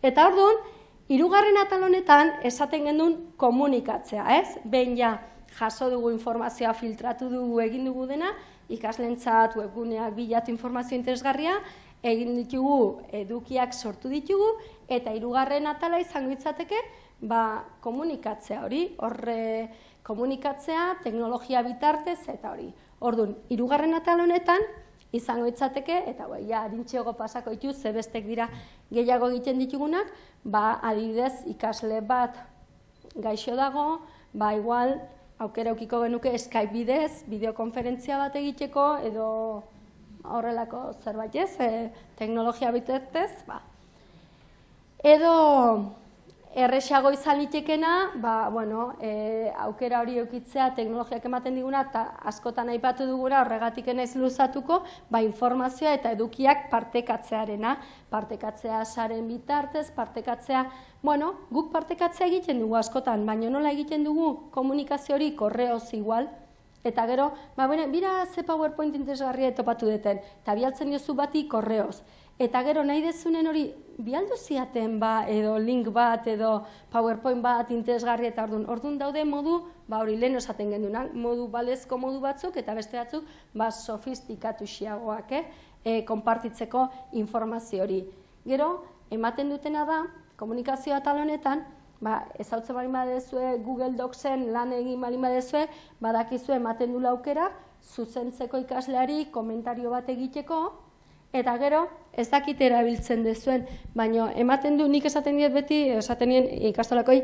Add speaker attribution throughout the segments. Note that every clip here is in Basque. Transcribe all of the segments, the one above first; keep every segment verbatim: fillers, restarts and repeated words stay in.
Speaker 1: Eta orduan, hirugarren atal honetan esaten genuen komunikatzea, ez? Behin ja jaso dugu informazioa, filtratu dugu, egin dugu dena, ikaslentzat, webguneak, bilatu informazio interesgarria, egin ditugu, edukiak sortu ditugu, eta hirugarren atala izango itzateke, ba, komunikatzea hori, horre komunikatzea, teknologia bitartez, eta hori. Orduan, hirugarren atal honetan, izango itzateke, eta bai, ja, adintxeago pasako ditu, ze bestek dira gehiago egiten ditugunak, ba, adibidez, ikasle bat gaixo dago, ba, igual, aukera eukiko genuke Skype bidez, bideokonferentzia bat egiteko, edo horrelako zerbait ez, e, teknologia bitartez, ba. Edo erresago izan litekena, ba, bueno, e, aukera hori eukitzea teknologiak ematen diguna, eta askotan aipatu dugura, horregatik naiz luzatuko, ba, informazioa eta edukiak partekatzearena, partekatzea saren bitartez, partekatzea, bueno, guk partekatzea egiten dugu askotan, baina nola egiten dugu komunikazio hori korreoz igual, eta gero, ba, bera, bira ze PowerPoint interesgarria topatu deten, eta bialtzen diozu bati korreoz. Eta gero nahi dezunen hori bialdu ziaten ba, edo link bat, edo PowerPoint bat interesgarria eta orduan. Orduan daude modu, ba hori lehen esaten gendunak, modu balezko modu batzuk eta beste batzuk ba sofistikatu xiagoak, eh? E, konpartitzeko informazio hori. Gero, ematen dutena da, komunikazioa atal honetan, ba, ezautzen bali badezue Google Docsen lan egin bali badezue, badakizue ematen dula aukera, zuzentzeko ikasleari komentario bat egiteko, eta gero, ez dakit erabiltzen dezuen, baina ematen du, nik esaten diet beti, esaten nien ikastolakoi,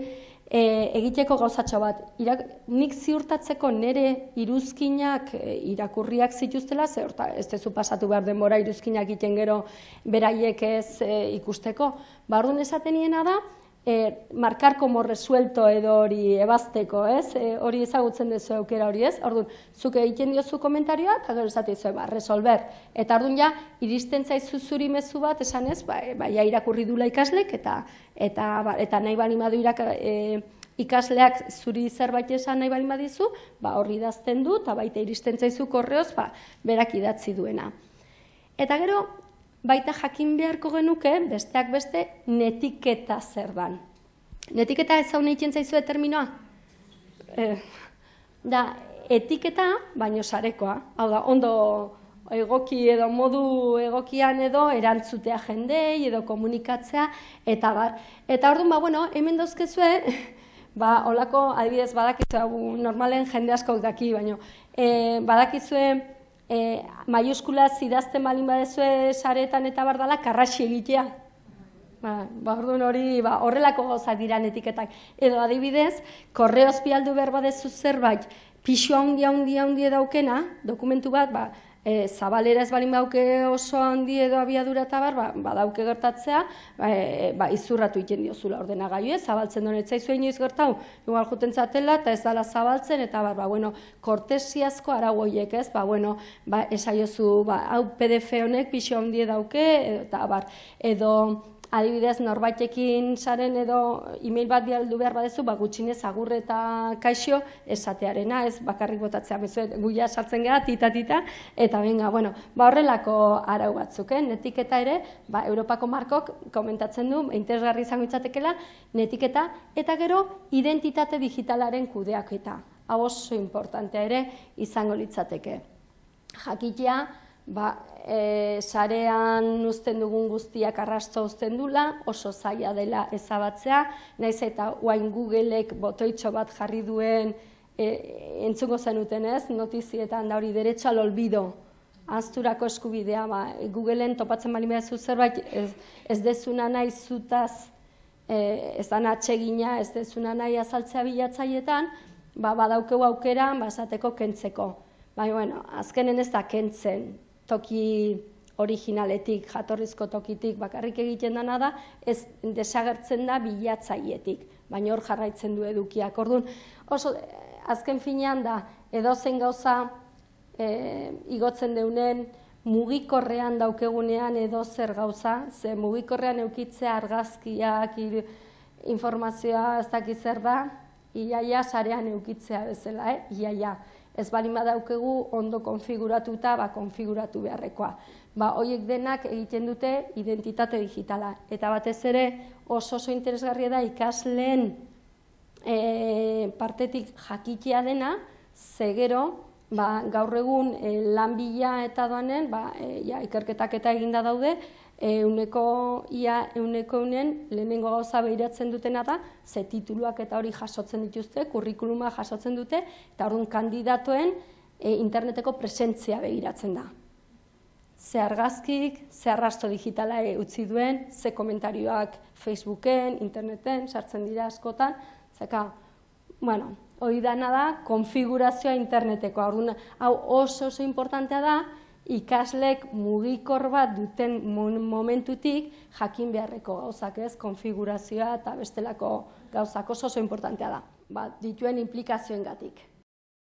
Speaker 1: e, egiteko gauzatxo bat. Irak, nik ziurtatzeko nire iruzkinak e, irakurriak zituztela, ze horta, ez dezu pasatu behar denbora iruzkinak egiten gero beraiek ez e, ikusteko. Ba, orduan esaten niena da, E, markar como resuelto edo hori ebazteko, ez? E, hori ezagutzen duzu aukera hori, ez? Orduan, zuk egiten diozu komentarioa, eta gero esaten duzu, ba, resolver. Eta orduan ja, iristen zaizu zuri mezu bat, esan ez, ba, ba ja irakurri dula ikaslek, eta, eta, ba, eta nahi bali madu irak, e, ikasleak zuri zerbait esan nahi bali madizu, ba, horri idazten du, eta baita iristen zaizu korreoz, ba, berak idatzi duena. Eta gero, baita jakin beharko genuke, besteak beste, netiketa zer dan. Netiketa ez hau nahiten zaizue terminoa? Eh, da, etiketa, baino sarekoa. Hau da, ondo egoki edo modu egokian edo erantzutea jendei edo komunikatzea, eta bar. Eta orduan, ba, bueno, hemen dauzkezue, ba, holako, adibidez, badakizue, normalen jende askok daki, baino, eh, badakizue, E, maiuskulaz idazten balin badezue saretan eta bardala, karraxi egitea. Ba, ba, orduan hori, ba, horrelako gauzak dira etiketak. Edo adibidez, korreoz bialdu behar badezu zerbait, pixu handi handi handi daukena, dokumentu bat, ba, e, zabalera ez balin bauke oso handi edo abiadura eta bar, ba, badauke gertatzea, ba, e, ba, izurratu egiten diozula ordenagailu, ez, zabaltzen duen etzaizu inoiz gertau, igual juten zatela eta ez dala zabaltzen, eta bar, ba, bueno, kortesiazko aragoiek, ez, ba, bueno, ba, esaiozu, ba, hau P D F honek pixu handi dauke, eta bar, edo, adibidez, norbaitekin saren edo e-mail bat bialdu behar badezu, ba, gutxinez agur eta kaixo esatearena, ez bakarrik botatzea, bezuet, guia sartzen gara, tita-tita, eta benga, bueno, ba, horrelako arau batzuk, eh? Netiketa ere, ba, Europako markok komentatzen du, interesgarri izango itzatekela, netiketa, eta gero, identitate digitalaren kudeaketa. Hau oso importantea ere izango litzateke. Jakitea, ba, e, sarean uzten dugun guztiak arrasto uzten dula, oso zaila dela ezabatzea, naiz eta guain Googleek botoitxo bat jarri duen e, entzungo zenuten ez, notizietan da hori derecho al olvido, ahazturako eskubidea, ba, Googleen topatzen bali behazu zerbait, ez, ez dezuna nahi zutaz, e, ez da atsegina, ez dezuna nahi azaltzea bilatzaietan, ba, badaukeu aukera, ba, esateko kentzeko. Bai, bueno, azkenen ez da kentzen, toki originaletik, jatorrizko tokitik bakarrik egiten dena da, ez desagertzen da bilatzaietik, baina hor jarraitzen du edukiak. Orduan, oso, azken finean da, edozein gauza e, igotzen deunen, mugikorrean daukegunean edozer gauza, ze mugikorrean eukitzea argazkiak, informazioa ez dakiz zer da, iaia sarean eukitzea bezala, eh? Iaia. Ez bali badaukegu ondo konfiguratuta, ba, konfiguratu beharrekoa. ba, horiek denak egiten dute identitate digitala. Eta batez ere oso oso interesgarria da ikasleen e, partetik jakitea dena, ze gero, ba, gaur egun e, lan bila eta doanen, ba, e, ja, ikerketak eta eginda daude, euneko ia euneko eunen lehenengo gauza behiratzen dutena da, ze tituluak eta hori jasotzen dituzte, kurrikuluma jasotzen dute, eta orduan kandidatoen e, interneteko presentzia begiratzen da. Ze argazkik, ze arrasto digitala e, utzi duen, ze komentarioak Facebooken, interneten, sartzen dira askotan, zeka, bueno, hori dana da, konfigurazioa interneteko. Orduan, hau oso oso importantea da, ikaslek mugikor bat duten momentutik jakin beharreko gauzak, ez, konfigurazioa eta bestelako gauzak oso oso importantea da, ba, dituen implikazioengatik.